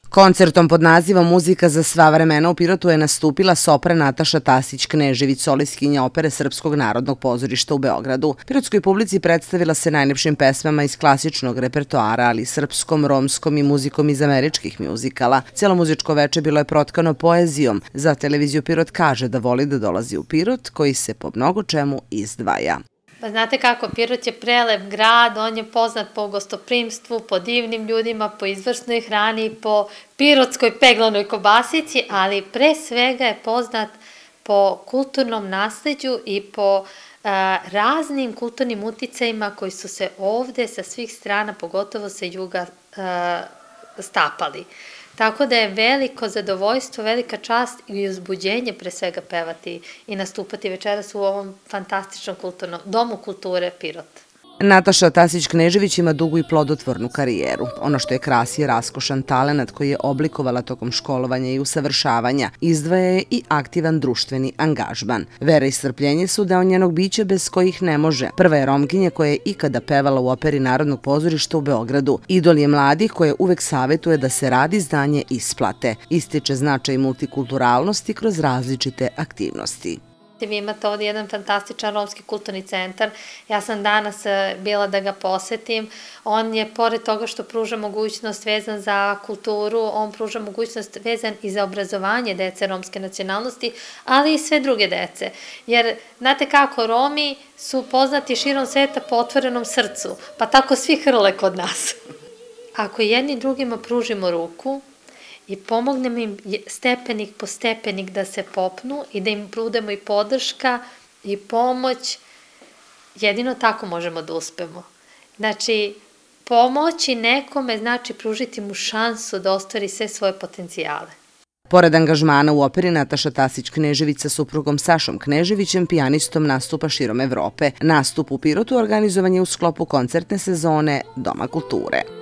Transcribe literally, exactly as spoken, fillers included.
Koncertom pod nazivom Muzika za sva vremena u Pirotu je nastupila sopran Nataša Tasić-Knežević, solistkinja opere Srpskog narodnog pozorišta u Beogradu. Pirotskoj publici predstavila se najlepšim pesmama iz klasičnog repertoara, ali i srpskom, romskom i muzikom iz američkih mjuzikala. Cijelo muzičko veče bilo je protkano poezijom. Za televiziju Pirot kaže da voli da dolazi u Pirot, koji se po mnogo čemu izdvaja. Pa znate kako, Pirot je prelep grad, on je poznat po gostoprimstvu, po divnim ljudima, po izvrsnoj hrani, po pirotskoj peglanoj kobasici, ali pre svega je poznat po kulturnom nasleđu i po a, raznim kulturnim uticajima koji su se ovde sa svih strana, pogotovo sa juga, a, stapali. Tako da je veliko zadovoljstvo, velika čast i uzbuđenje pre svega pevati i nastupati večeras u ovom fantastičnom kulturnom domu kulture Pirot. Nataša Tasić-Knežević ima dugu i plodotvornu karijeru. Ono što je krasi je raskošan talenat koji je oblikovala tokom školovanja i usavršavanja. Izdvaja je i aktivan društveni angažman. Vera i strpljenje su deo njenog bića bez kojih ne može. Prva je Romkinja koja je ikada pevala u operi Narodnog pozorišta u Beogradu. Idol je mladih koje uvek savetuje da se rad izdanje isplate. Ističe značaj multikulturalnosti kroz različite aktivnosti. Vi imate ovdje jedan fantastičan romski kulturni centar. Ja sam danas bila da ga posetim. On je, pored toga što pruža mogućnost vezan za kulturu, on pruža mogućnost vezan i za obrazovanje dece romske nacionalnosti, ali i sve druge dece. Jer, znate kako, Romi su poznati širom sveta po otvorenom srcu, pa tako svi hrle kod nas. Ako jedni drugima pružimo ruku i pomognemo im stepenik po stepenik da se popnu i da im prudemo i podrška i pomoć, jedino tako možemo da uspemo. Znači, pomoći nekome znači pružiti mu šansu da ostvari sve svoje potencijale. Pored angažmana u operi, Nataša Tasić-Knežević sa suprugom Sašom Kneževićem, pijanistom, nastupa širom Evrope. Nastup u Pirotu organizovan je u sklopu koncertne sezone Doma kulture.